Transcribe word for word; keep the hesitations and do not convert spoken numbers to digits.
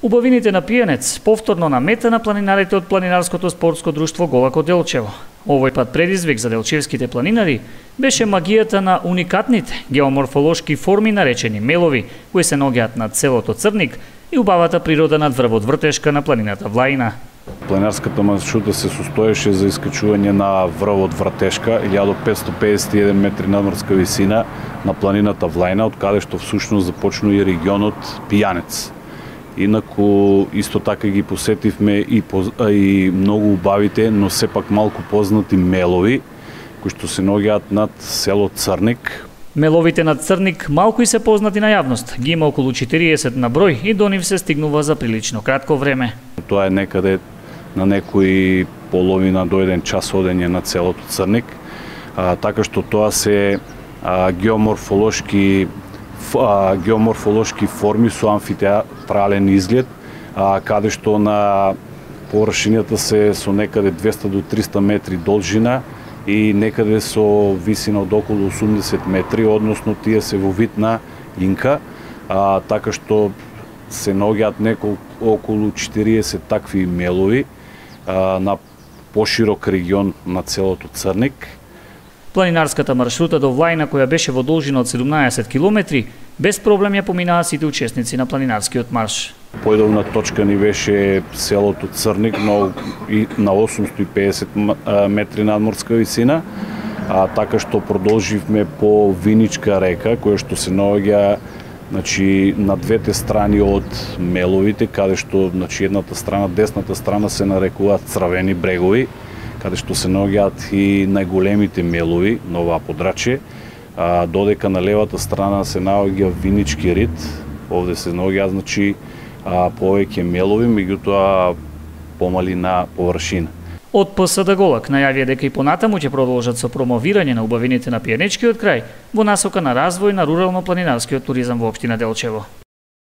Убавините на пиенец повторно намета на планинарите од планинарското спортско друштво Голако Делчево. Овој пат предизвик за делчевските планинари беше магијата на уникатните геоморфолошки форми наречени мелови, кои се наоѓаат на селото Црник и убавата природа на врвот Вртешка на планината Влаина. Планинарската маршрута се состоеше за искачување на врвот Вртешка, илјада петстотини педесет и еден метри надморска висина на планината Влаина, од каде што всушност започна и регионот Пијанец. Инаку исто така ги посетивме и, и многу убавите, но сепак малку познати мелови, кои што се наоѓаат над село Црник. Меловите над Црник малку и се познати на јавност. Ги има околу четириесет на број и до нив се стигнува за прилично кратко време. Тоа е некаде на некои половина до еден час одење на целото Црник, а, така што тоа се а, геоморфолошки а, геоморфолошки форми со амфитеатрален изглед, а, каде што на површината се со некаде двеста до триста метри должина и некаде со висина од околу осумдесет метри, односно тие се во вид на инка, а, така што се наоѓаат неколку околу четириесет такви мелови а, на поширок регион на целото Црник. Планинарската маршрута до Влаина, која беше во должина од седумнаесет километри, без проблем ја поминаа сите учесници на планинарскиот марш. Појдовна точка ни беше селото Црник на, на осумстотини и педесет метри надморска висина, а, така што продолживме по Виничка река, која што се наоѓа значи, на двете страни од меловите, каде што значи, едната страна, десната страна се нарекуваат Црвени брегови, каде што се наоѓаат и најголемите мелови на оваа подрачје, а, додека на левата страна се наоѓа Винички рид, овде се наоѓаат значи, а, повеќе мелови, меѓутоа помали на површина. Од ПСД Голак најавија дека и понатаму ќе продолжат со промовирање на убавините на пиенечкиот крај во насока на развој на рурално-планинарскиот туризам во општина Делчево.